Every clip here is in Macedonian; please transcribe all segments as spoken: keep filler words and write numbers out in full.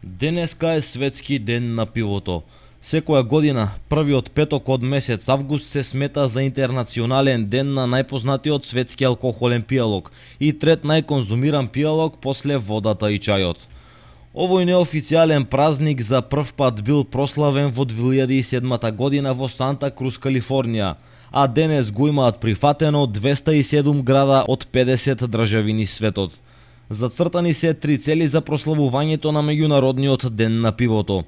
Денеска е светски ден на пивото. Секоја година, првиот петок од месец август се смета за интернационален ден на најпознатиот светски алкохолен пијалок и трет најконзумиран пијалок после водата и чајот. Овој неофицијален празник за прв пат бил прославен во две илјади и седма година во Санта Круз, Калифорнија, а денес го имаат прифатено двеста и седум града од педесет држави низ светот. Зацртани се три цели за прославувањето на меѓународниот ден на пивото: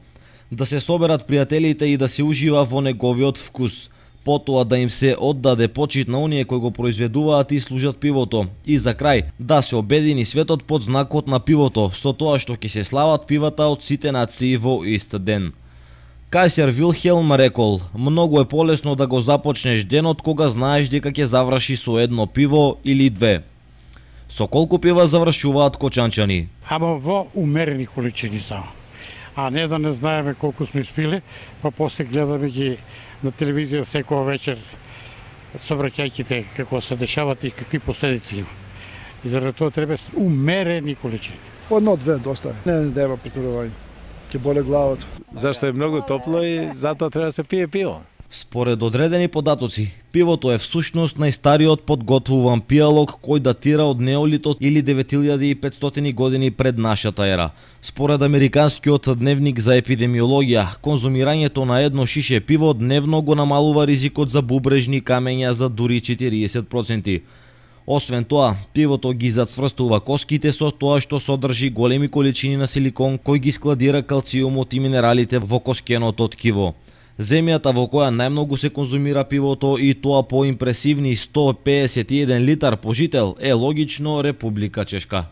да се соберат пријателите и да се ужива во неговиот вкус, потоа да им се оддаде почит на оние кои го произведуваат и служат пивото, и за крај да се обедини светот под знакот на пивото, со тоа што ќе се слават пивата од сите нации во ист ден. Кајсер Вилхелм рекол: многу е полесно да го започнеш денот кога знаеш дека ќе заврши со едно пиво или две. Со колку пива завршуваат кочанчани? Ама во умерени количини само. А не да не знаеме колку сме спиле, па после гледаме ги на телевизија секоја вечер, собраќајќите како се дешават и какви последици има. И заради тоа треба умерени количини. Одно-две доста. Не треба претурување. Ќе боле главата. Зашто е многу топло и затоа треба да се пие пиво. Според одредени податоци, пивото е всушност најстариот подготвуван пијалок кој датира од неолитот или девет илјади и петстотини години пред нашата ера. Според Американскиот дневник за епидемиологија, конзумирањето на едно шише пиво дневно го намалува ризикот за бубрежни камења за дури четириесет проценти. Освен тоа, пивото ги зацврстува коските со тоа што содржи големи количини на силикон кој ги складира калциумот и минералите во коскеното ткиво. Земјата во која најмногу се конзумира пивото, и тоа по импресивни сто пеесет и еден литар по жител, е логично Република Чешка.